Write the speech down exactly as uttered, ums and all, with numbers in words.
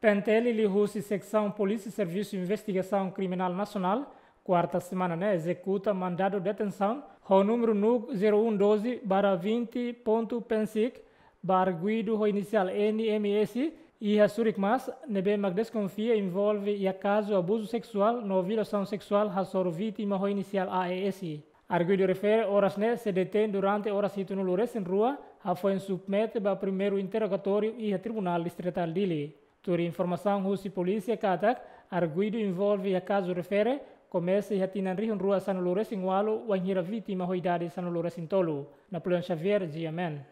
PNTL liuhusi Seksaun Polísia Servisu Investigasaun Kriminál Nasionál, kuarta semana ne'e ezekuta mandadu detensaun ho númeru NUC zero um doze barra vinte ponto PNSIC, ba arguidu ho inisiál N M S, iha Surikmas, ne'ebé mak deskonfia envolve iha kazu abuzu seksuál no violasaun seksuál hasoru vítima ho inisiál A E S. Arguidu refere oras ne'e sei detein durante oras hitunulu resin rua, hafoin submete ba primeiru interrogatóriu iha Tribunál Distritál Dili. Tuir informasaun husi polísia katak, arguidu envolve iha kazu refere, komesa iha tinan rihun rua sanulu resin ualu, wainhira vítima ho idade sanulu resin tolu. Napoleão Xavier, G M N.